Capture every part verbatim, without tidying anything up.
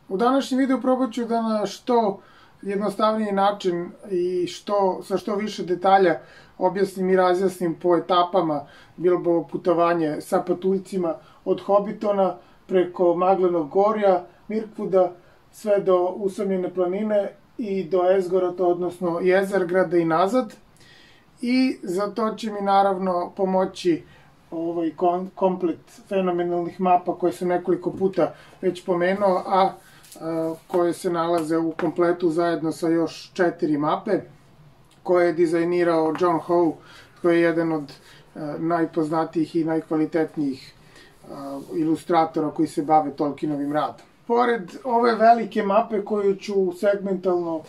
U današnjem videu probat ću da na što jednostavniji način i što, sa što više detalja objasnim i razjasnim po etapama Bilbovo putovanje sa patuljcima od Hobbitona preko Maglenog gorja, Mirkvuda, sve do Usamljene planine i do Esgorata, odnosno Jezergrada i nazad. I za to će mi naravno pomoći ovaj komplet fenomenalnih mapa koje sam nekoliko puta već pomenuo, a koje se nalaze u kompletu zajedno sa još četiri mape koje je dizajnirao John Howe, koji je jedan od najpoznatijih i najkvalitetnijih ilustratora koji se bave Tolkienovim radom. Pored ove velike mape koju ću segmentalno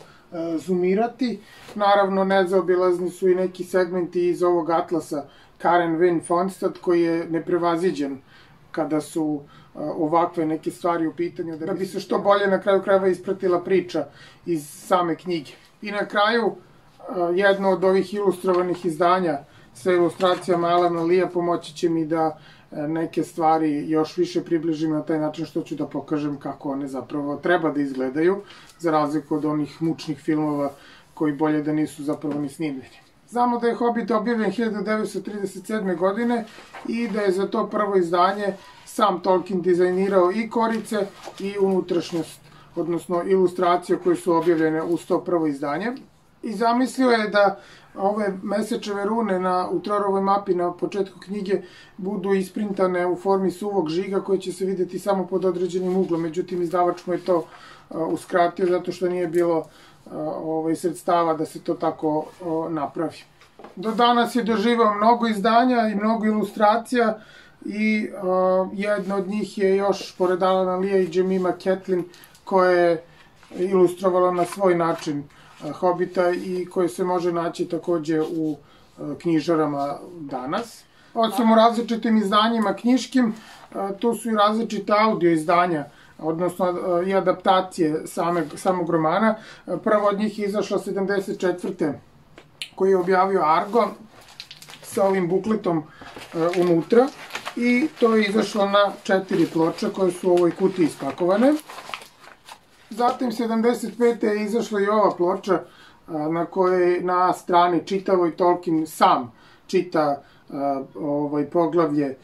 zoomirati, naravno nezaobilazni su i neki segmenti iz ovog atlasa Karen Wynne Fonstad, koji je neprevaziđen kada su ovakve neke stvari u pitanju, da bi se što bolje na kraju krajeva ispratila priča iz same knjige. I na kraju, jedno od ovih ilustrovanih izdanja sa ilustracijama Alana Lee pomoći će mi da neke stvari još više približim na taj način što ću da pokažem kako one zapravo treba da izgledaju, za razliku od onih mučnih filmova koji bolje da nisu zapravo ni snimljeni. Znamo da je Hobbit objavljen hiljadu devetsto trideset sedme. godine i da je za to prvo izdanje sam Tolkien dizajnirao i korice i unutrašnjost, odnosno ilustracije koje su objavljene uz to prvo izdanje. I zamislio je da ove mesečeve rune u Trorovoj mapi na početku knjige budu isprintane u formi suvog žiga koje će se videti samo pod određenim uglom. Međutim, izdavač mu je to uskratio zato što nije bilo sredstava da se to tako napravi. Do danas je doživao mnogo izdanja i mnogo ilustracija i jedna od njih je još, pored Alana Lee i Jemima Catlin, koja je ilustrovala na svoj način Hobbita i koje se može naći takođe u knjižarama danas. Osim u različitim izdanjima knjiškim, tu su i različite audio izdanja, odnosno i adaptacije samog romana. Prvo od njih je izašla sedamdeset četvrte koji je objavio Argo sa ovim bukletom unutra i to je izašlo na četiri ploče koje su u ovoj kutiji ispakovane. Zatim sedamdeset pete je izašla i ova ploča na kojoj na strani čitavoj Tolkien sam čita poglavlje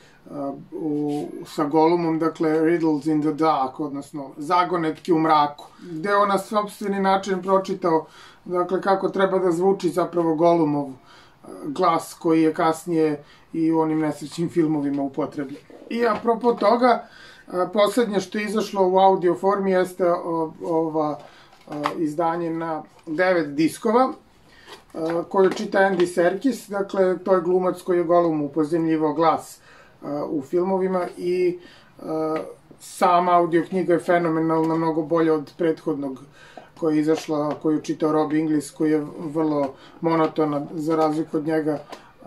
sa Golumom, dakle Riddles in the Dark, odnosno zagonetke u mraku, gde on na sopstveni način pročitao kako treba da zvuči zapravo Golumov glas koji je kasnije i u onim nesrećnim filmovima upotrebljen. I apropo toga, poslednje što je izašlo u audio formi jeste ova izdanje na devet diskova koju čita Andy Serkis, dakle to je glumac koji je Golumu upozemljivao glas u filmovima i sama audio knjiga je fenomenalna, mnogo bolja od prethodnog koja je izašla, koju je čitao Rob Inglis, koji je vrlo monotona, za razliku od njega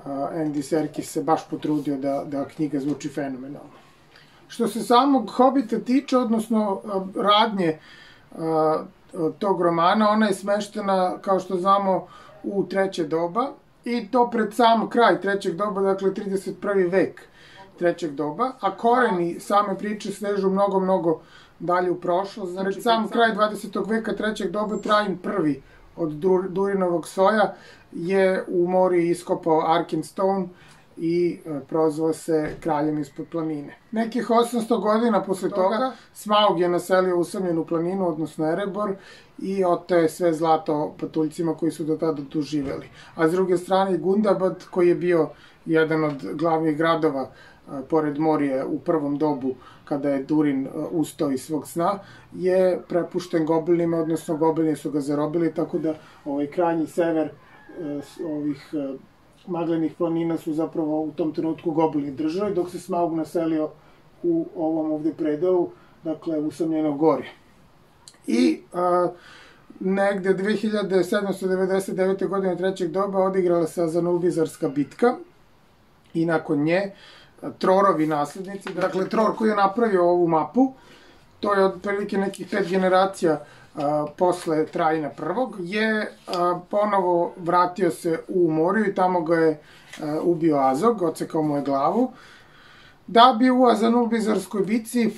Andy Serkis se baš potrudio da knjiga zvuči fenomenalno. Što se samog Hobita tiče, odnosno radnje tog romana, ona je smeštena, kao što znamo, u treće doba i to pred sam kraj trećeg doba, dakle trideset prvi vek trećeg doba, a koreni same priče sežu mnogo, mnogo dalje u prošlost. Znači, sam kraj dvadesetog veka trećeg doba, Trajan prvi od Durinovog soja je u mori iskopao Arkenstone i prozvao se kraljem ispod planine. Nekih osamsto godina posle toga Smaug je naselio Usamljenu planinu, odnosno Erebor, i oteo je sve zlato patuljcima koji su do tada tu živeli. A s druge strane Gundabad, koji je bio jedan od glavnih gradova pored Morije u prvom dobu kada je Durin ustao iz svog sna, je prepušten goblinima, odnosno goblini su ga zarobili, tako da ovaj krajnji sever ovih Maglenih planina su zapravo u tom trenutku goblini držali, dok se Smaug naselio u ovom ovde predelu, dakle Usamljeno gorje. I negde dve hiljade sedamsto devedeset devete. godine trećeg doba odigrala se Azanulbizarska bitka i nakon nje Trorovi naslednici, dakle Tror koji je napravio ovu mapu, to je otprilike nekih pet generacija posle Trajana prvog, je ponovo vratio se u Moriju i tamo ga je ubio Azog, odsekao mu je glavu. Da bi u Azanulbizarskoj bici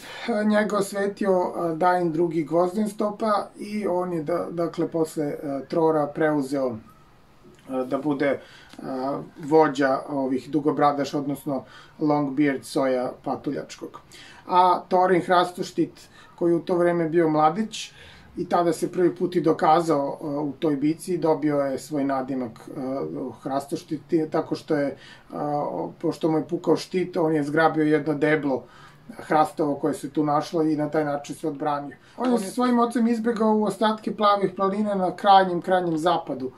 njega osvetio Dain drugi Gvozdenstopa i on je, dakle, posle Trora preuzeo da bude vođa ovih dugobradaša, odnosno Longbeard soja patuljačkog. A Thorin Hrastoštit, koji u to vreme bio mladić i tada se prvi put i dokazao u toj bici, dobio je svoj nadimak Hrastoštit, tako što je, pošto mu je pukao štit, on je zgrabio jedno deblo hrastovo koje se tu našlo i na taj način se odbranio. On je sa svojim ocem izbegao u ostatke plavih planina na krajnjem, krajnjem zapadu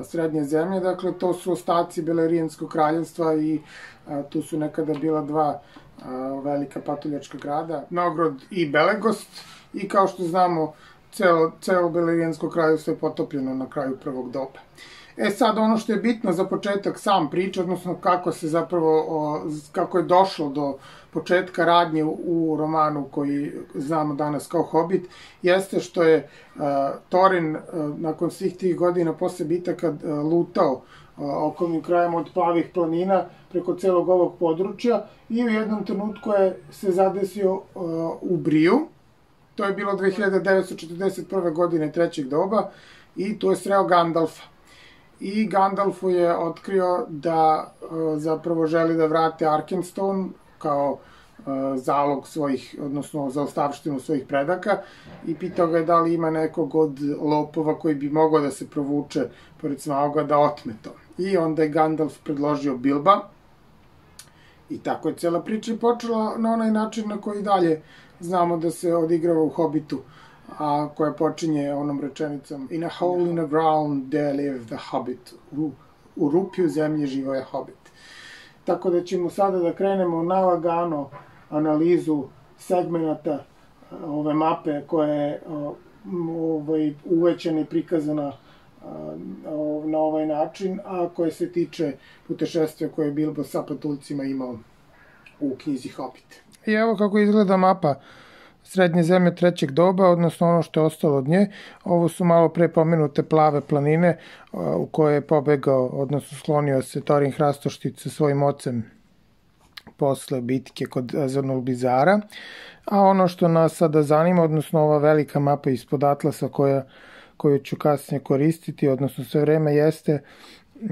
srednje zemlje, dakle to su ostaci Belerijanskog kraljevstva i tu su nekada bila dva velika patuljačka grada, Nogrod i Belegost, i kao što znamo celo, celo Belerijansko kraljevstvo je potopljeno na kraju prvog doba. E sad, ono što je bitno za početak sam priče, odnosno kako se zapravo, kako je došlo do početka radnje u romanu koji znamo danas kao Hobbit, jeste što je Thorin nakon svih tih godina posle bitaka lutao okolnim krajem od plavih planina preko celog ovog područja i u jednom trenutku je se zadesio u Briju. To je bilo dve hiljade devetsto četrdeset prve. godine trećeg doba i tu je sreo Gandalfa. I Gandalfu je otkrio da zapravo želi da vrate Arkenstone kao zalog svojih, odnosno zaostavštinu svojih predaka, i pitao ga je da li ima nekog od lopova koji bi mogao da se provuče pored Smauga da otme to. I onda je Gandalf predložio Bilba i tako je cela priča počela na onaj način na koji dalje znamo da se odigrava u Hobbitu, a koja počinje onom rečenicom In a hole in the ground there lived the Hobbit. U, u rupi u zemlji živo je Hobbit. Tako da ćemo sada da krenemo na lagano analizu segmenata ove mape koja je ovaj, uvećena i prikazana na ovaj način, a koje se tiče putešestvija koje je Bilbo sa patuljcima imao u knjizi Hobbit. I evo kako izgleda mapa srednje zemlje trećeg doba, odnosno ono što je ostalo od nje. Ovo su malo pre pomenute plave planine u koje je pobegao, odnosno sklonio se Thorin Hrastoštit sa svojim ocem posle bitke kod Azanulbizara. A ono što nas sada zanima, odnosno ova velika mapa ispod Atlasa koja, koju ću kasnije koristiti, odnosno sve vreme, jeste mm,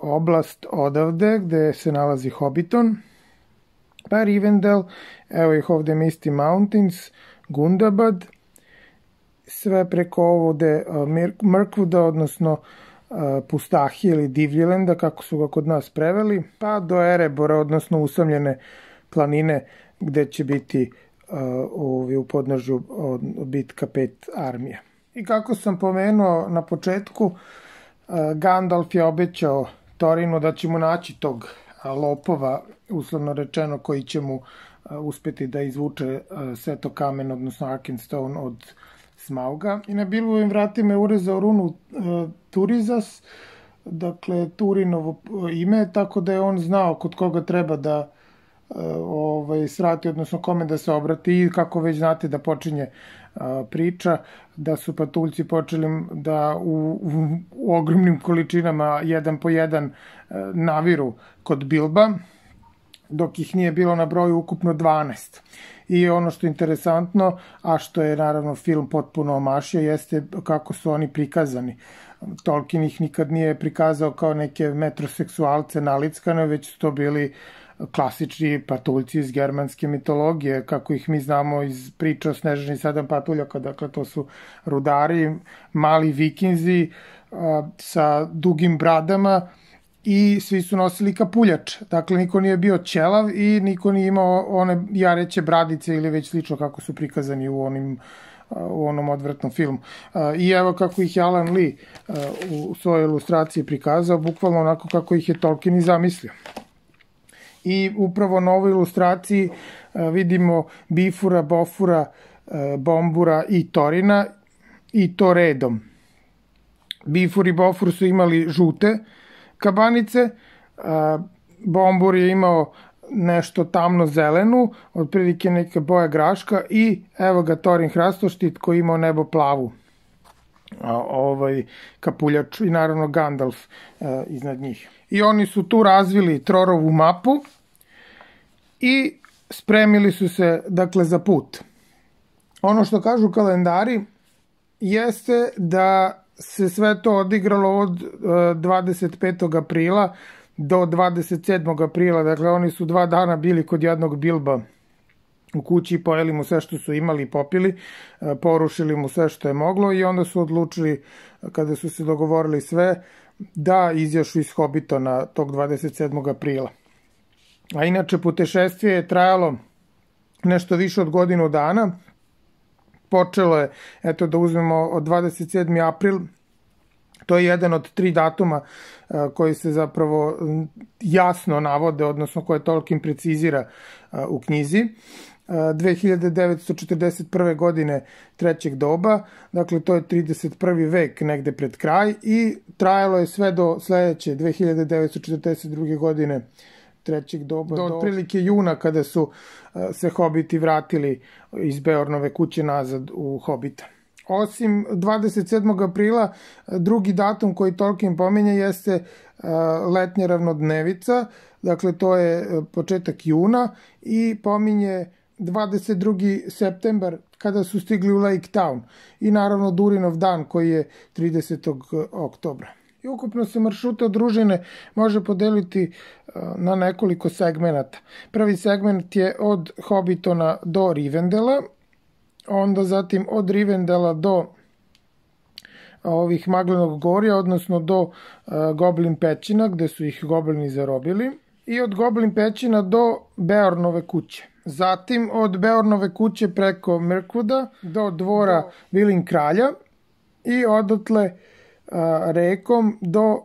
oblast odavde gde se nalazi Hobbiton, pa Rivendell, evo ih ovde Misty Mountains, Gundabad, sve preko ovde Mirkwooda, odnosno Pustahije ili Divljilenda, kako su ga kod nas preveli, pa do Erebora, odnosno usamljene planine, gde će biti uh, u podnožju bitka pet armija. I kako sam pomenuo na početku, uh, Gandalf je obećao Thorinu da će mu naći tog lopova, uslovno rečeno, koji će mu uh, uspeti da izvuče uh, Sveto kamen, odnosno Arkenstone od Smauga. I na Bilbovim vratima je urezao runu uh, Turizas, dakle Turinovo ime, tako da je on znao kod koga treba da uh, ovaj, srati, odnosno kome da se obrati, i kako već znate da počinje uh, priča, da su patuljci počeli da u, u, u ogromnim količinama, jedan po jedan, uh, naviru kod Bilba, dok ih nije bilo na broju ukupno dvanaest. I ono što je interesantno, a što je naravno film potpuno omašio, jeste kako su oni prikazani. Tolkien ih nikad nije prikazao kao neke metroseksualce nalickane, već su to bili klasični patuljci iz germanske mitologije, kako ih mi znamo iz priča o Snežani sedam patuljaka. Dakle, to su rudari, mali vikinzi a, sa dugim bradama, i svi su nosili kapuljač. Dakle, niko nije bio ćelav i niko nije imao one jareće bradice ili već slično kako su prikazani u onim u onom odvratnom filmu. I evo kako ih je Alan Lee u svojoj ilustraciji prikazao, bukvalno onako kako ih je Tolkien i zamislio. I upravo na ovoj ilustraciji vidimo Bifura, Bofura, Bombura i Thorina, i to redom. Bifur i Bofur su imali žute kabanice, Bombur je imao nešto tamno zelenu, otprilike neka boja graška, i evo ga Thorin Hrastoštit koji imao nebo plavu ovaj kapuljač, i naravno Gandalf iznad njih. I oni su tu razvili Trorovu mapu i spremili su se, dakle, za put. Ono što kažu kalendari jeste da se sve to odigralo od dvadeset petog aprila do dvadeset sedmog aprila, dakle oni su dva dana bili kod jednog Bilba u kući, pojeli mu sve što su imali i popili, porušili mu sve što je moglo i onda su odlučili, kada su se dogovorili sve, da izjašu iz Hobitona tog dvadeset sedmog aprila. A inače, putešestvije je trajalo nešto više od godinu dana. Počelo je, eto da uzmemo od dvadeset sedmi april, to je jedan od tri datuma koji se zapravo jasno navode, odnosno koje Tolkien precizira u knjizi. dve hiljade devetsto četrdeset prve. godine trećeg doba, dakle to je trideset prvi vek negde pred kraj i trajalo je sve do sledeće dve hiljade devetsto četrdeset druge. godine trećeg doba, do otprilike juna kada su se hobiti vratili iz Beornove kuće nazad u Hobita. Osim dvadeset sedmog aprila, drugi datum koji Tolkien pominje jeste letnja ravnodnevica, dakle to je početak juna i pominje dvadeset drugi septembar kada su stigli u Lake Town i naravno Durinov dan koji je tridesetog oktobra. I ukupno se maršruta od družine može podeliti na nekoliko segmenata. Prvi segment je od Hobitona do Rivendela, onda zatim od Rivendela do ovih Maglenog gorja, odnosno do Goblin pećina gde su ih goblini zarobili, i od Goblin pećina do Beornove kuće. Zatim od Beornove kuće preko Mirkwooda do dvora Vilin kralja i odatle rekom do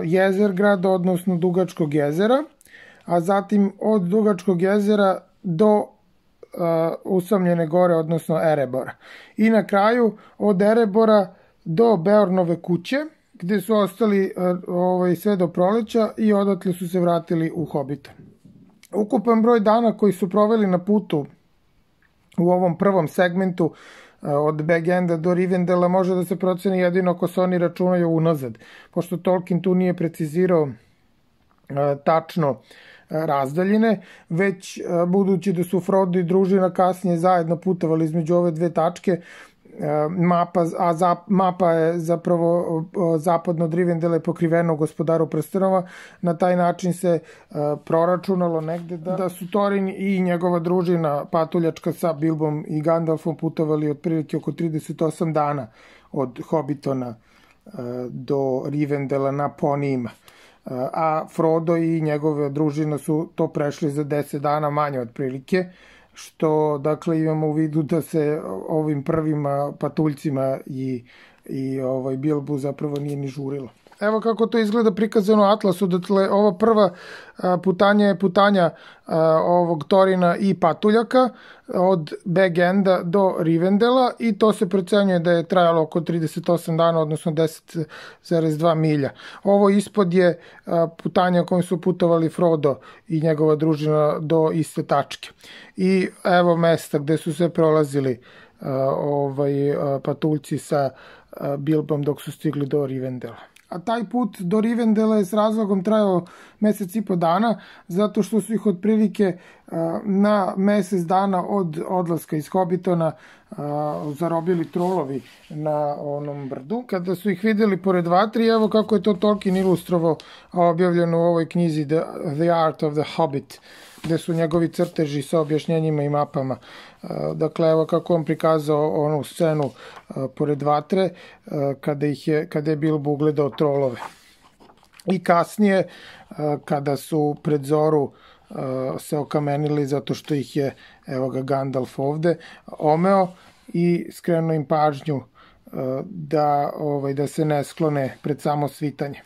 Jezergrada, odnosno Dugačkog jezera, a zatim od Dugačkog jezera do Usamljene gore, odnosno Erebora. I na kraju od Erebora do Beornove kuće, gde su ostali ovaj, sve do proleća i odatle su se vratili u Hobbiton. Ukupan broj dana koji su proveli na putu u ovom prvom segmentu od Bag Enda do Rivendela može da se proceni jedino ako se oni računaju unazad, pošto Tolkien tu nije precizirao tačno razdaljine, već budući da su Frodo i družina kasnije zajedno putovali između ove dve tačke, mapa, a za, mapa je zapravo zapadno od Rivendela je pokriveno Gospodaru prstenova, na taj način se uh, proračunalo negde da, da su Thorin i njegova družina patuljačka sa Bilbom i Gandalfom putovali otprilike oko trideset osam dana od Hobbitona uh, do Rivendela na ponijima. Uh, a Frodo i njegove družina su to prešli za deset dana manje otprilike, što, dakle, imamo u vidu da se ovim prvim patuljcima i, i ovaj Bilbu zapravo nije ni žurilo. Evo kako to izgleda prikazano u Atlasu, dakle, ova prva putanja je putanja ovog Thorina i patuljaka od Bag Enda do Rivendela i to se procenjuje da je trajalo oko trideset osam dana, odnosno deset zarez dva milja. Ovo ispod je putanja kojim su putovali Frodo i njegova družina do iste tačke. I evo mesta gde su se prolazili ovaj, patuljci sa Bilbom dok su stigli do Rivendela. A taj put do Rivendela je s razlogom trajao mesec i po dana, zato što su ih otprilike na mesec dana od odlaska iz Hobbitona zarobili trolovi na onom brdu. Kada su ih videli pored vatri, evo kako je to Tolkien ilustrovao, objavljeno u ovoj knjizi The, The Art of the Hobbit, gde su njegovi crteži sa objašnjenjima i mapama. Dakle, evo kako on prikazao onu scenu pored vatre kada, ih je, kada je Bilbo ugledao trolove. I kasnije, kada su pred zoru se okamenili zato što ih je, evo ga Gandalf ovde, omeo i skrenuo im pažnju da, ovaj, da se ne sklone pred samo svitanje.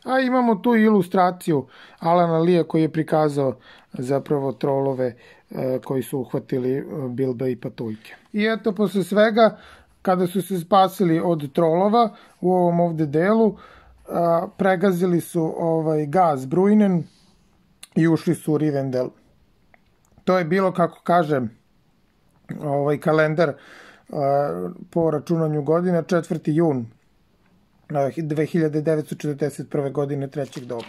A imamo tu ilustraciju Alana Lea koji je prikazao zapravo trolove koji su uhvatili Bilba i patuljke. I eto, posle svega, kada su se spasili od trolova u ovom ovde delu, pregazili su ovaj Gaz Bruinen i ušli su u Rivendell. To je bilo, kako kažem, ovaj kalendar po računanju godina, četvrti jun dve hiljade devetsto četrdeset prve. godine trećeg doba.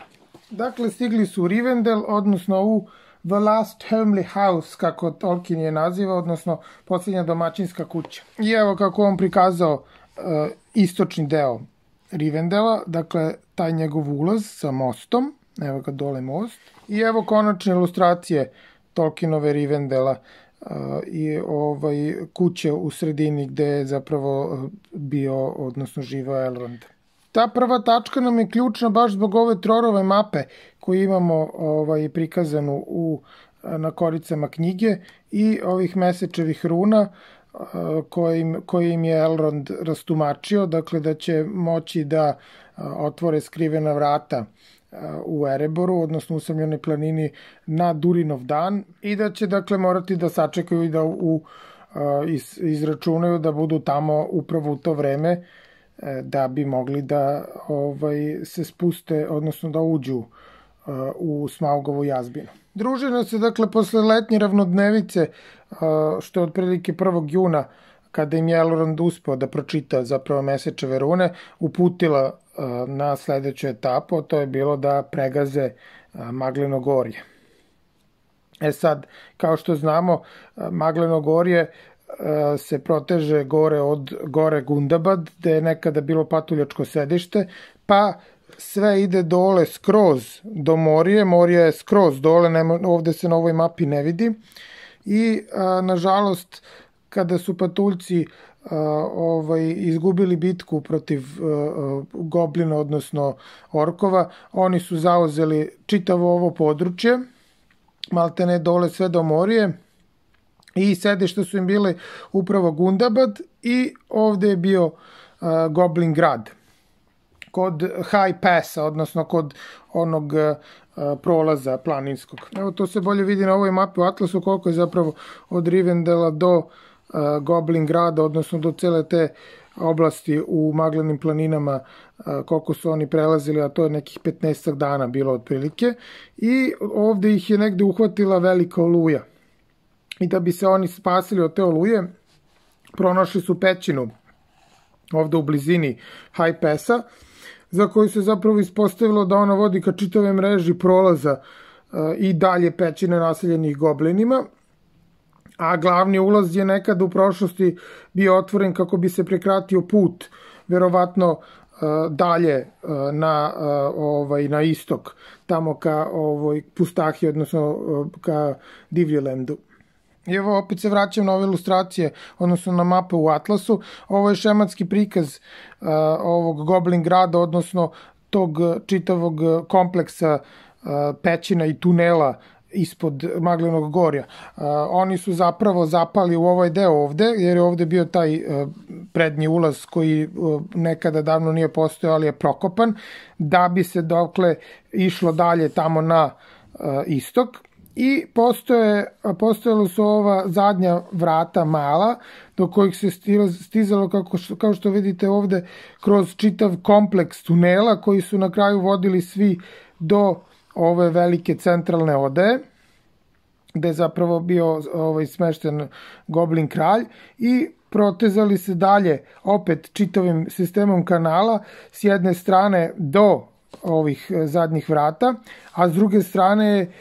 Dakle, stigli su u Rivendell, odnosno u The Last Homely House, kako Tolkien je naziva, odnosno posljednja domaćinska kuća. I evo kako on prikazao uh, istočni deo Rivendela, dakle taj njegov ulaz sa mostom, evo ga dole most, i evo konačne ilustracije Tolkienove Rivendela uh, i ovaj, kuće u sredini gde je zapravo bio, odnosno živao Elrond. Ta prva tačka nam je ključna baš zbog ove Trorove mape koju imamo ovaj, prikazanu u, na koricama knjige i ovih Mesečevih runa kojim, kojim je Elrond rastumačio, dakle da će moći da otvore skrivena vrata u Ereboru, odnosno u Usamljenoj planini na Durinov dan i da će dakle morati da sačekaju i da u, iz, izračunaju da budu tamo upravo u to vreme da bi mogli da ovaj, se spuste, odnosno da uđu uh, u Smaugovu jazbinu. Družina se, dakle, posle letnje ravnodnevice, uh, što je otprilike prvog juna, kada im je Elrond uspeo da pročita zapravo Mesečeve rune, uputila uh, na sledeću etapu, to je bilo da pregaze uh, Magleno gorje. E sad, kao što znamo, uh, Magleno gorje se proteže gore od gore Gundabad, gde je nekada bilo patuljačko sedište, pa sve ide dole skroz do Morije, Morija je skroz dole, nema, ovde se na ovoj mapi ne vidi i a, nažalost kada su patuljci a, ovaj, izgubili bitku protiv a, goblina, odnosno orkova, oni su zauzeli čitavo ovo područje, maltene dole sve do Morije, i sedište su im bile upravo Gundabad i ovde je bio uh, Goblin grad kod High Passa, odnosno kod onog uh, prolaza planinskog. Evo to se bolje vidi na ovoj mapi u Atlasu koliko je zapravo od Rivendela do uh, Goblin grada, odnosno do cele te oblasti u Maglenim planinama, uh, koliko su oni prelazili, a to je nekih petnaestak dana bilo otprilike. I ovde ih je negde uhvatila velika oluja. I da bi se oni spasili od te oluje, pronašli su pećinu ovde u blizini High Passa, za koju se zapravo ispostavilo da ona vodi ka čitave mreži prolaza uh, i dalje pećine naseljenih goblinima, a glavni ulaz je nekada u prošlosti bio otvoren kako bi se prekratio put, verovatno uh, dalje uh, na, uh, ovaj, na istok, tamo ka ovaj, Pustahi, odnosno uh, ka Divljelandu. I evo opet se vraćam na ove ilustracije, odnosno na mape u Atlasu. Ovo je šematski prikaz uh, ovog Goblin grada, odnosno tog čitavog kompleksa uh, pećina i tunela ispod Maglenog gorja. Uh, oni su zapravo zapali u ovaj deo ovde, jer je ovde bio taj uh, prednji ulaz koji uh, nekada davno nije postojao, ali je prokopan, da bi se dokle išlo dalje tamo na uh, istok. I postoje, postojalo su ova zadnja vrata mala, do kojih se stizalo, kako što, kao što vidite ovde, kroz čitav kompleks tunela, koji su na kraju vodili svi do ove velike centralne odaje, gde je zapravo bio ovaj, smešten Goblin kralj, i protezali se dalje, opet čitavim sistemom kanala, s jedne strane do ovih zadnjih vrata, a s druge strane je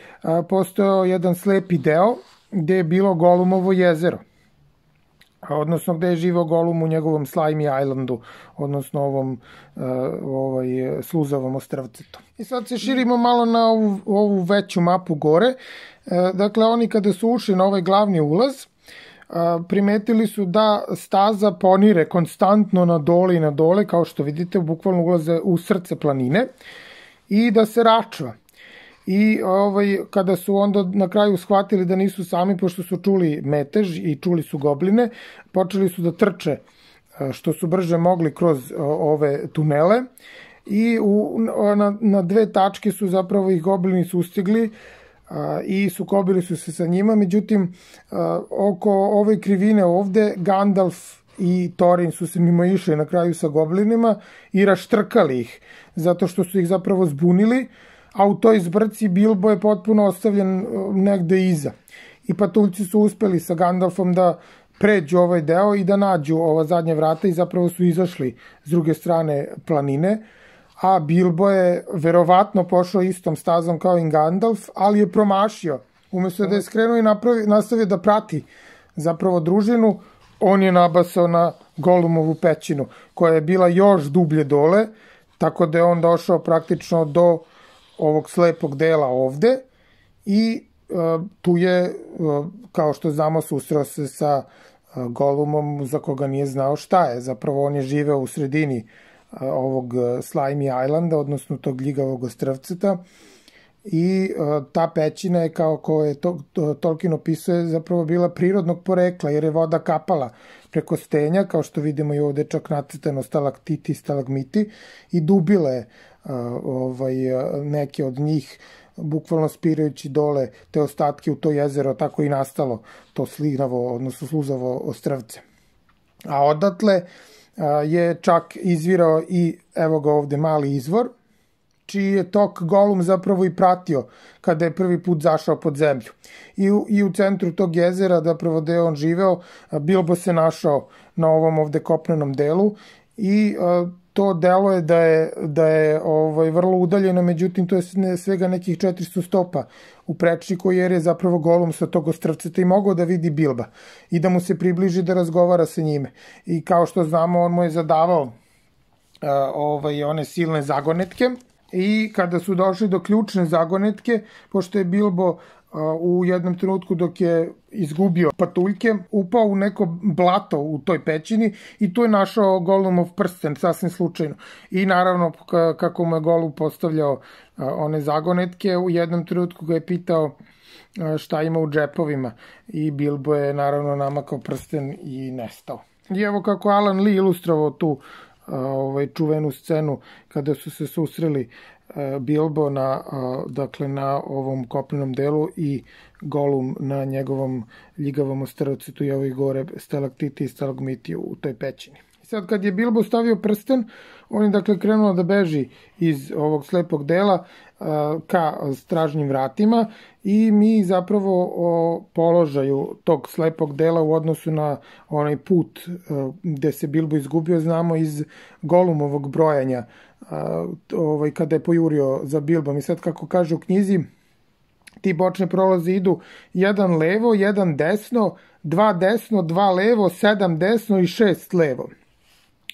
postojao jedan slepi deo gde je bilo Golumovo jezero, odnosno gde je živao Golum u njegovom Slimy Islandu, odnosno ovom ovaj, sluzavom ostrvcetu. I sad se širimo malo na ovu, ovu veću mapu gore. Dakle, oni kada su ušli na ovaj glavni ulaz, primetili su da staza ponire konstantno na dole i na dole, kao što vidite, bukvalno ulaze u srce planine, i da se račva. I ovaj, kada su onda na kraju shvatili da nisu sami, pošto su čuli metež i čuli su gobline, počeli su da trče što su brže mogli kroz ove tunele i u, na, na dve tačke su zapravo ih goblini sustigli i sukobili su se sa njima. Međutim, oko ove krivine ovde Gandalf i Thorin su se mimo išli na kraju sa goblinima i raštrkali ih, zato što su ih zapravo zbunili, a u toj zbrci Bilbo je potpuno ostavljen negde iza. I patuljci su uspeli sa Gandalfom da pređu ovaj deo i da nađu ova zadnja vrata i zapravo su izašli s druge strane planine, a Bilbo je verovatno pošao istom stazom kao i Gandalf, ali je promašio Umesto da je skrenuo i napravi, nastavio da prati zapravo družinu, on je nabasao na Golumovu pećinu, koja je bila još dublje dole, tako da je on došao praktično do ovog slepog dela ovde i uh, tu je, uh, kao što znamo, susreo se sa uh, Golumom za koga nije znao šta je. Zapravo on je živeo u sredini uh, ovog Slimy Islanda, odnosno tog ljigavog ostrvceta, i uh, ta pećina je, kao ko je to, to, Tolkien opisuje, zapravo bila prirodnog porekla, jer je voda kapala preko stenja, kao što vidimo i ovde čak nacrtano stalaktiti i stalagmiti, i dubile uh, ovaj, neke od njih, bukvalno spirajući dole te ostatke u to jezero, tako i nastalo to slinavo, odnosno sluzavo ostrvce. A odatle uh, je čak izvirao i, evo ga ovde, mali izvor, čiji je tok Golum zapravo i pratio kada je prvi put zašao pod zemlju. I u, i u centru tog jezera, zapravo gde je on živeo, Bilbo se našao na ovom ovde kopnenom delu i a, to delo je da je, da je ovaj, vrlo udaljeno, međutim to je svega nekih četiristo stopa u prečniku, jer je zapravo Golum sa tog ostrvceta i mogao da vidi Bilba i da mu se približi da razgovara sa njime. I kao što znamo, on mu je zadavao a, ovaj, one silne zagonetke. I kada su došli do ključne zagonetke, pošto je Bilbo uh, u jednom trenutku dok je izgubio patuljke, upao u neko blato u toj pećini i tu je našao Golumov prsten, sasvim slučajno. I naravno, kako mu je Golum postavljao uh, one zagonetke, u jednom trenutku ga je pitao uh, šta ima u džepovima i Bilbo je naravno namakao prsten i nestao. I evo kako Alan Lee ilustrovao tu ovaj čuvenu scenu kada su se susreli Bilbo na, dakle, na ovom kopnenom delu i Golum na njegovom ljigavom ostrvcetu i ovih gore stalaktiti i stalagmiti u toj pećini. I sad kad je Bilbo stavio prsten, on je dakle krenuo da beži iz ovog slepog dela ka stražnjim vratima i mi zapravo o položaju tog slepog dela u odnosu na onaj put gde se Bilbo izgubio znamo iz Golumovog brojanja, ovaj, kada je pojurio za Bilbom. I sad, kako kaže u knjizi, ti bočne prolaze idu jedan levo, jedan desno, dva desno, dva levo, sedam desno i šest levo.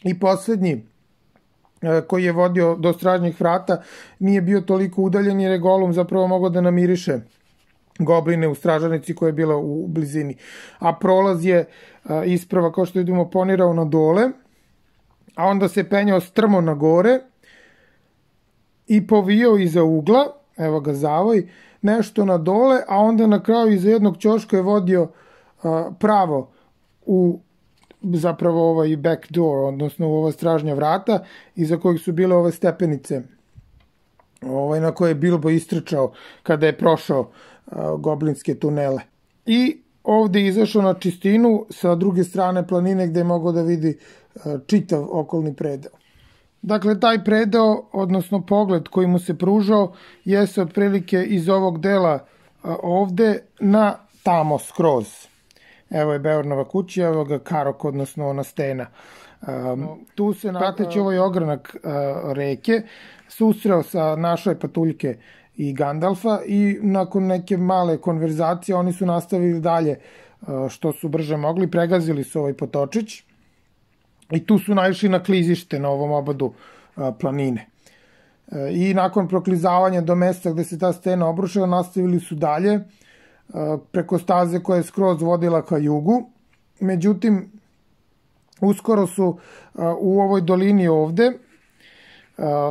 I poslednji koji je vodio do stražnjih vrata nije bio toliko udaljen, jer je Golum zapravo mogao da namiriše gobline u stražarnici koja je bila u blizini. A prolaz je isprava, kao što vidimo, ponirao na dole, a onda se penjao strmo na gore i povijao iza ugla, evo ga zavoj, nešto na dole, a onda na kraju iza jednog ćoška je vodio pravo u zapravo ovaj back door, odnosno u ova stražnja vrata, iza kojih su bile ove stepenice ovaj, na koje je Bilbo istrčao kada je prošao uh, goblinske tunele. I ovde je izašao na čistinu sa druge strane planine gde je mogao da vidi uh, čitav okolni predeo. Dakle, taj predeo, odnosno pogled koji mu se pružao, jeste otprilike iz ovog dela uh, ovde na tamo skroz. Evo je Beornova kuća, evo ga Karok, odnosno ona stena. Um, tu se, prateći ovaj ogranak uh, reke, susreo sa našoj patuljke i Gandalfa i nakon neke male konverzacije oni su nastavili dalje uh, što su brže mogli, pregazili su ovaj potočić i tu su naišli na klizište na ovom obadu uh, planine. Uh, I nakon proklizavanja do mesta gde se ta stena obrušila, nastavili su dalje preko staze koja je skroz vodila ka jugu. Međutim, uskoro su u ovoj dolini ovde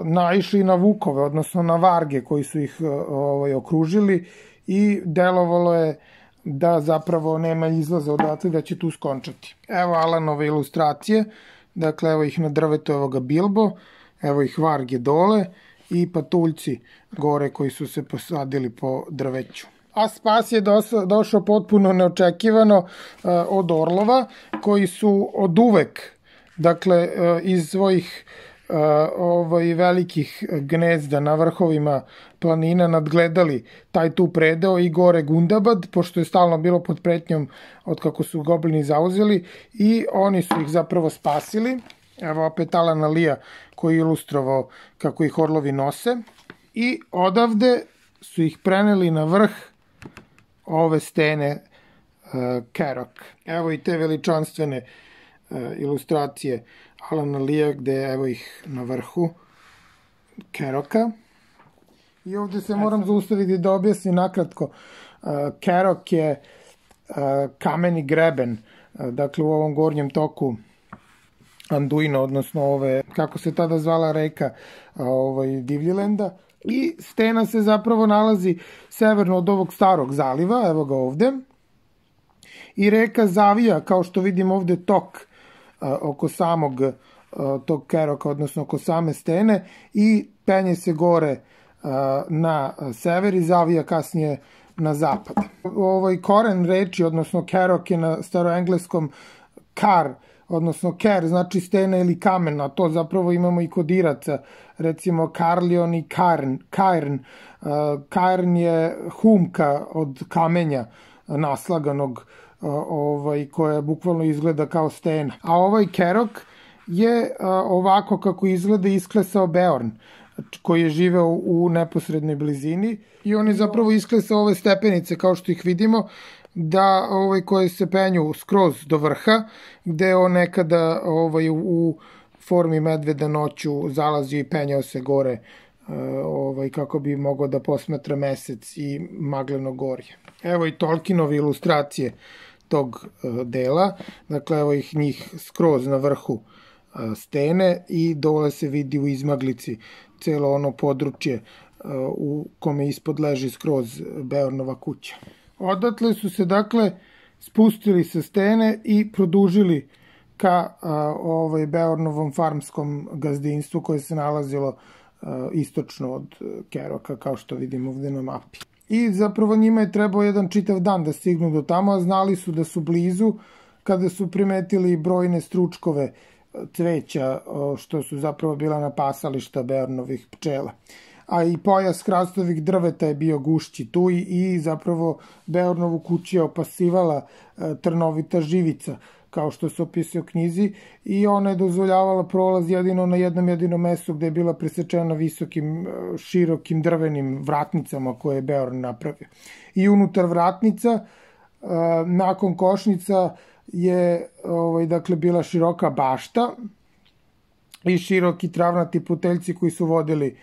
naišli na vukove, odnosno na varge koji su ih ovaj, okružili i delovalo je da zapravo nema izlaza odatle, da će tu skončati. Evo Alanove ilustracije, dakle evo ih na drvetu, evo ga Bilbo, evo ih varge dole i patuljci gore koji su se posadili po drveću. A spas je došao potpuno neočekivano uh, od orlova, koji su od uvek, dakle, uh, iz svojih uh, ovaj, velikih gnezda na vrhovima planina nadgledali taj tu predeo i gore Gundabad, pošto je stalno bilo pod pretnjom od kako su goblini zauzeli, i oni su ih zapravo spasili. Evo opet Alana Lea koji je ilustrovao kako ih orlovi nose. I odavde su ih preneli na vrh ove stene Kerak. Evo i te veličanstvene ilustracije Alana Leea, gde evo ih na vrhu Keraka. I ovde se moram zaustaviti da objasnim nakratko. Kerak je kameni greben, dakle u ovom gornjem toku Anduina, odnosno ove, kako se tada zvala reka ovaj, Divljilenda. I stena se zapravo nalazi severno od ovog starog zaliva, evo ga ovde. I reka zavija, kao što vidimo ovde, tok a, oko samog a, tog Keraka, odnosno oko same stene, i penje se gore a, na sever i zavija kasnije na zapad. Ovaj koren reči, odnosno Kerak, je na staroengleskom kar, odnosno ker, znači stena ili kamen, a to zapravo imamo i kod Iraca, recimo Karlion i Karn. Karn, Karn je humka od kamenja naslaganog, ovaj, koja bukvalno izgleda kao stena. A ovaj Kerak je ovako kako izgleda isklesao Beorn, koji je živeo u neposrednoj blizini, i on je zapravo isklesao ove stepenice, kao što ih vidimo, da ovaj, koje se penju skroz do vrha, gde on nekada ovaj, u formi medveda noću zalazio i penjao se gore, ovaj, kako bi mogao da posmatra mesec i magleno gorje. Evo i Tolkienove ilustracije tog dela, dakle evo ih njih skroz na vrhu stene i dole se vidi u izmaglici celo ono područje u kome ispod leži skroz Beornova kuća. Odatle su se dakle spustili sa stene i produžili ka a, ovaj Beornovom farmskom gazdinstvu koje se nalazilo a, istočno od Keraka, kao što vidimo ovde na mapi. I zapravo njima je trebao jedan čitav dan da stignu do tamo, a znali su da su blizu kada su primetili brojne stručkove cveća, što su zapravo bila napasališta Beornovih pčela. A i pojas hrastovih drveta je bio gušći tu i zapravo Beornovu kuću je opasivala trnovita živica, kao što se opisuje u knjizi, i ona je dozvoljavala prolaz jedino na jednom jedinom mestu gde je bila presečena visokim, širokim drvenim vratnicama koje je Beorn napravio. I unutar vratnica, nakon košnica, je ovaj, dakle, bila široka bašta i široki travnati puteljci koji su vodili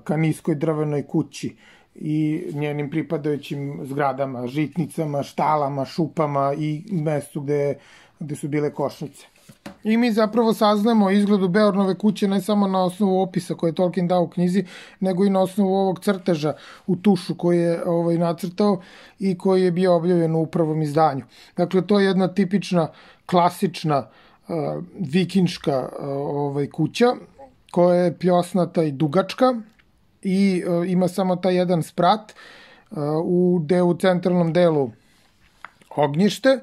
ka niskoj drvenoj kući i njenim pripadajućim zgradama, žitnicama, štalama, šupama i mestu gde, gde su bile košnice. I mi zapravo saznamo o izgledu Beornove kuće ne samo na osnovu opisa koje je Tolkien dao u knjizi, nego i na osnovu ovog crteža u tušu koji je ovaj, nacrtao i koji je bio objavljen u prvom izdanju. Dakle, to je jedna tipična, klasična, uh, vikinška uh, ovaj, kuća, koja je pljosnata i dugačka i uh, ima samo taj jedan sprat, uh, u, delu, u centralnom delu ognjište,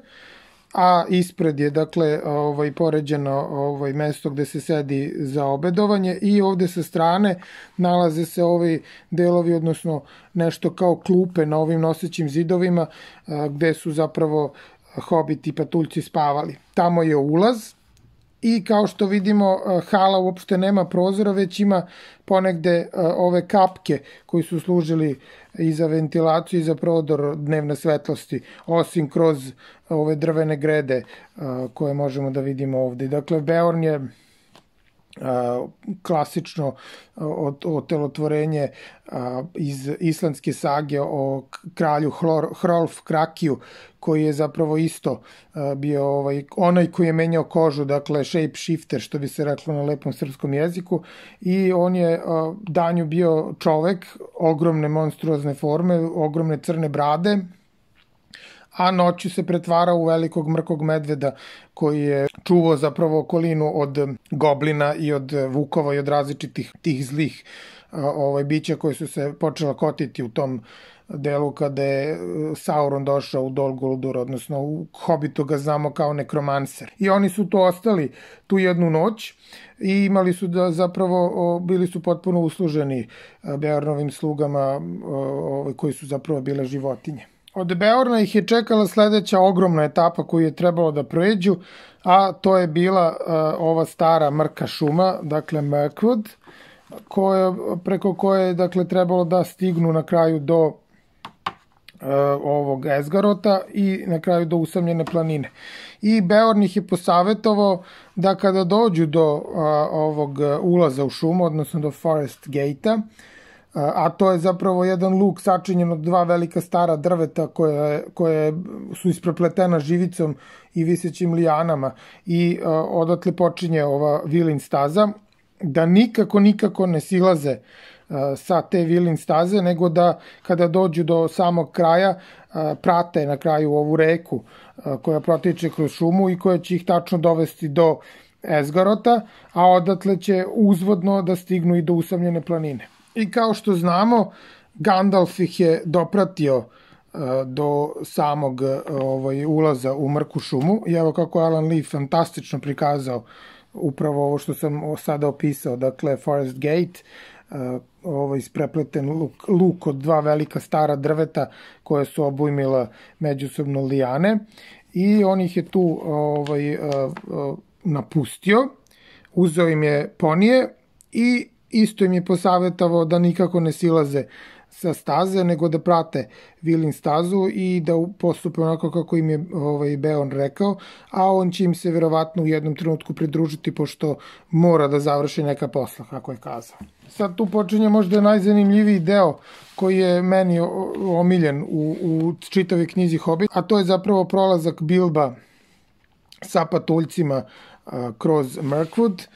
a ispred je, dakle, ovaj, poređeno ovaj, mesto gde se sedi za obedovanje, i ovde sa strane nalaze se ovi delovi, odnosno nešto kao klupe na ovim nosećim zidovima, a, gde su zapravo hobiti i patuljci spavali. Tamo je ulaz i kao što vidimo, hala uopšte nema prozora, već ima ponegde ove kapke koji su služili i za ventilaciju i za prodor dnevne svetlosti, osim kroz ove drvene grede koje možemo da vidimo ovde. Dakle, Beorn je klasično otelotvorenje iz islandske sage o kralju Hrolf Krakiju, koji je zapravo isto bio ovaj, onaj koji je menjao kožu, dakle shape shifter, što bi se reklo na lepom srpskom jeziku, i on je danju bio čovek ogromne monstruozne forme, ogromne crne brade, a noću se pretvara u velikog mrkog medveda koji je čuvao zapravo okolinu od goblina i od vukova i od različitih tih zlih ovaj, bića koji su se počela kotiti u tom delu kada je Sauron došao u Dol Guldur, odnosno u Hobbitu ga znamo kao nekromanser. I oni su tu ostali tu jednu noć i imali su da zapravo, bili su potpuno usluženi Beornovim slugama koji su zapravo bile životinje. Od Beorna ih je čekala sledeća ogromna etapa koju je trebalo da prođu, a to je bila uh, ova stara mrka šuma, dakle Mirkwood, koja, preko koje je dakle, trebalo da stignu na kraju do ovog Esgarota i na kraju do usamljene planine. I Beorn ih je posavetovao da kada dođu do a, ovog ulaza u šumu, odnosno do Forest Gate-a, a to je zapravo jedan luk sačinjen od dva velika stara drveta koje, koje su isprepletena živicom i visećim lijanama i a, odatle počinje ova Vilin staza, da nikako, nikako ne silaze sa te Vilin staze, nego da kada dođu do samog kraja prate na kraju ovu reku koja protiče kroz šumu i koja će ih tačno dovesti do Esgarota, a odatle će uzvodno da stignu i do usamljene planine. I kao što znamo, Gandalf ih je dopratio do samog ovaj, ulaza u mrku šumu i evo kako Alan Lee fantastično prikazao upravo ovo što sam sada opisao, dakle Forest Gate, ovaj isprepleten luk, luk od dva velika stara drveta koje su obujmila međusobno lijane i on ih je tu ovaj, napustio, uzeo im je ponije i isto im je posavetavao da nikako ne silaze sa staze, nego da prate Vilin stazu i da postupe onako kako im je ovaj, Beorn rekao, a on će im se verovatno u jednom trenutku pridružiti pošto mora da završi neka posla, kako je kazao. Sad tu počinje možda najzanimljiviji deo koji je meni omiljen u, u čitavoj knjizi Hobbit, a to je zapravo prolazak Bilba sa patuljcima a, kroz Mirkwood,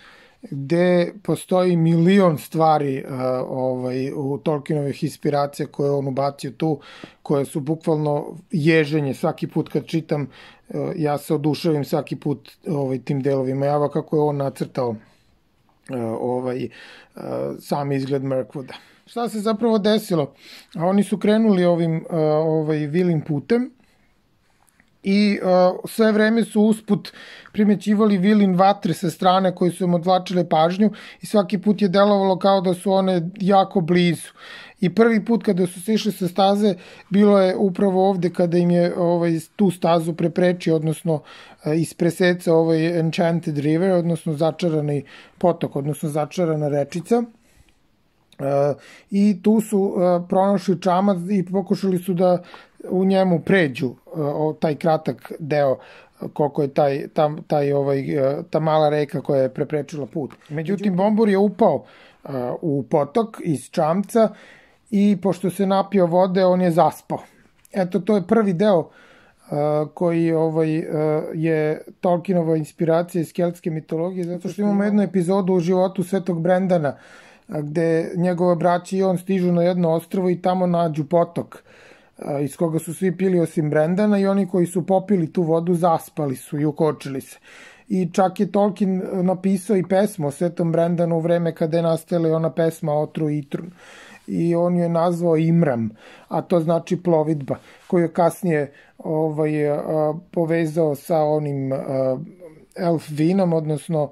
gde postoji milion stvari uh, ovaj, u Tolkienovih inspiracija koje on ubacio tu, koje su bukvalno ježenje. Svaki put kad čitam, uh, ja se oduševim svaki put ovaj, tim delovima. Java kako je on nacrtao uh, ovaj, uh, sam izgled Mirkwooda. Šta se zapravo desilo? A oni su krenuli ovim uh, ovaj, Vilin putem i uh, sve vreme su usput primećivali Vilin vatre sa strane koje su im odvlačile pažnju i svaki put je delovalo kao da su one jako blizu. I prvi put kada su se išli sa staze bilo je upravo ovde kada im je ovaj, tu stazu preprečio, odnosno uh, ispreseca ovaj Enchanted River, odnosno začarani potok, odnosno začarana rečica. Uh, I tu su uh, pronašli čamac i pokušali su da u njemu pređu uh, taj kratak deo koliko je taj, ta, taj, ovaj, ta mala reka koja je preprečila put. Međutim, Bombur je upao uh, u potok iz čamca i pošto se napio vode, on je zaspao. Eto, to je prvi deo uh, koji ovaj, uh, je Tolkienova inspiracija iz keltske mitologije, zato što imamo jednu epizodu u životu Svetog Brendana, gde njegove braće i on stižu na jedno ostrvo i tamo nađu potok iz koga su svi pili osim Brendana i oni koji su popili tu vodu zaspali su i ukočili se. I čak je Tolkien napisao i pesmu o Svetom Brendanu u vreme kada je nastala ona pesma Otru i Itrun. I on ju je nazvao Imram, a to znači plovidba, koju je kasnije ovaj, povezao sa onim elf vinom, odnosno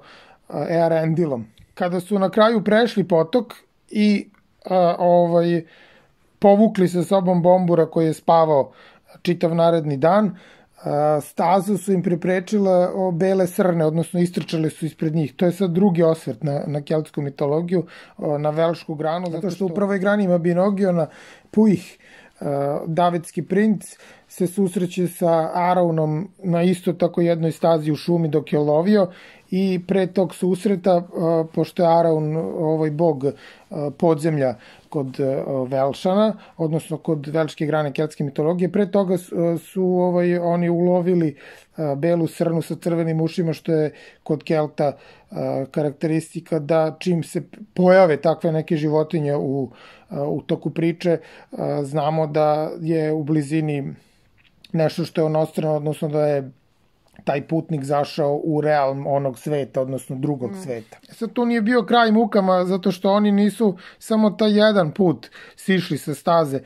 Earendilom. Kada su na kraju prešli potok i a, ovaj, povukli sa sobom Bombura koji je spavao čitav naredni dan, a, stazu su im preprečila o, bele srne, odnosno istrčale su ispred njih. To je sad drugi osvrt na, na keltsku mitologiju, o, na velšku granu, zato što u prvoj grani ima Binogiona, Puih, a, Davidski princ, se susreće sa Araunom na isto tako jednoj stazi u šumi dok je lovio i pre tog susreta, pošto je Araun ovaj bog podzemlja kod Velšana, odnosno kod velške grane keltske mitologije, pre toga su ovaj, oni ulovili belu srnu sa crvenim ušima, što je kod Kelta karakteristika da čim se pojave takve neke životinje u, u toku priče, znamo da je u blizini nešto što je onostrano, odnosno da je taj putnik zašao u realm onog sveta, odnosno drugog mm. sveta. Sad tu nije bio kraj mukama, zato što oni nisu samo taj jedan put sišli sa staze,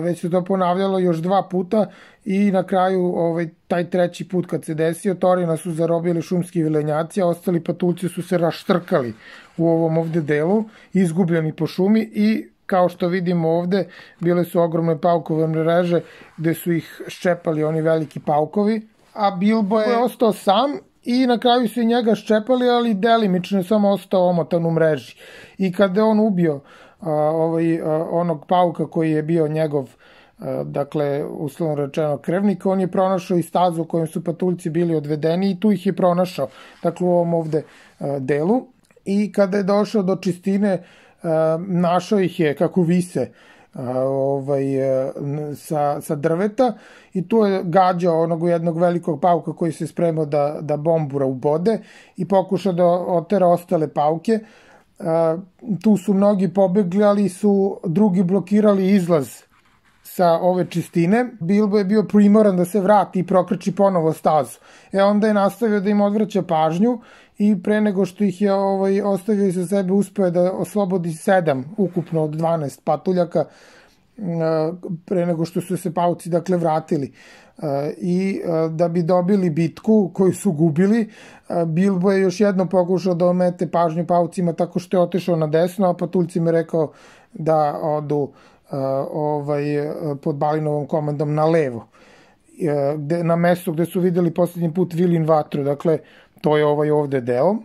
već se to ponavljalo još dva puta i na kraju ovaj, taj treći put kad se desio, Torina su zarobili šumski vilenjaci, a ostali patuljci su se raštrkali u ovom ovde delu, izgubljeni po šumi i kao što vidimo ovde, bile su ogromne paukove mreže gde su ih ščepali oni veliki paukovi, a Bilbo je ostao sam i na kraju su i njega ščepali, ali delimično je samo ostao omotan u mreži. I kada je on ubio a, ovaj, a, onog pauka koji je bio njegov dakle, uslovno rečeno krvnika, on je pronašao i stazu u kojoj su patuljci bili odvedeni i tu ih je pronašao, dakle, u ovom ovde delu. I kada je došao do čistine, našao ih je kako vise ovaj, sa, sa drveta i tu je gađao onog jednog velikog pauka koji se spremao da, da bombura ubode i pokušao da otera ostale pauke. Tu su mnogi pobegli, ali su drugi blokirali izlaz sa ove čistine. Bilbo je bio primoran da se vrati i prokrči ponovo stazu. E onda je nastavio da im odvraća pažnju i pre nego što ih je ovaj, ostavio sa sebe, uspeo da oslobodi sedam ukupno od dvanaest patuljaka pre nego što su se pauci, dakle, vratili. I da bi dobili bitku koju su gubili, Bilbo je još jedno pokušao da omete pažnju paucima tako što je otišao na desno, a patuljcima je rekao da odu ovaj, pod Balinovom komandom na levo, na mesto gde su videli poslednji put Vilin vatru, dakle, to je ovaj ovde deo.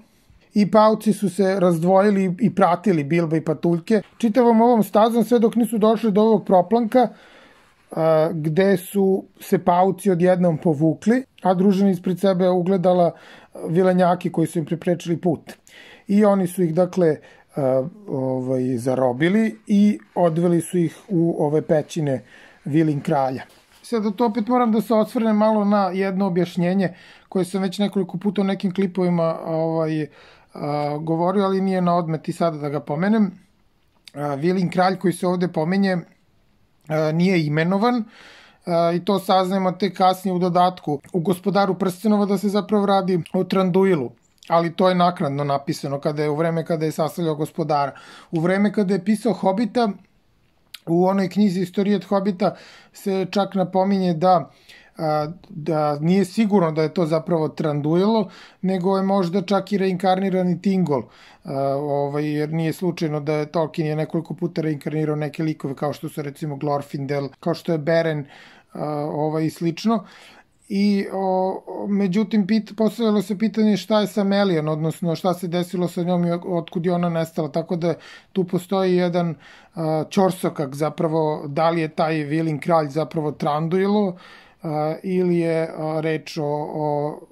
I pauci su se razdvojili i pratili Bilba i patuljke čitavom ovom stazom sve dok nisu došli do ovog proplanka gde su se pauci odjednom povukli, a družina ispred sebe ugledala vilenjaki koji su im preprečili put. I oni su ih, dakle, ovaj, zarobili i odveli su ih u ove pećine Vilin kralja. Sada to opet moram da se osvrnem malo na jedno objašnjenje koje sam već nekoliko puta u nekim klipovima ovaj, a, govorio, ali nije na odmet i sada da ga pomenem. A, Vilin kralj koji se ovde pomenje a, nije imenovan a, i to saznajemo tek kasnije u dodatku u Gospodaru prstenova da se zapravo radi o Tranduilu, ali to je naknadno napisano kada je u vreme kada je sastavljao Gospodara. U vreme kada je pisao Hobita, u onoj knjizi Istorijat Hobita se čak napominje da, da nije sigurno da je to zapravo Tranduilo, nego je možda čak i reinkarnirani Tingol, ovaj, jer nije slučajno da je Tolkien je nekoliko puta reinkarnirao neke likove kao što su recimo Glorfindel, kao što je Beren ovaj, i slično. I o, međutim pit, postavljalo se pitanje šta je sa Melian, odnosno šta se desilo sa njom i otkud je ona nestala, tako da tu postoji jedan a, ćorsokak zapravo, da li je taj Vilin kralj zapravo Tranduilo a, ili je a, reč o,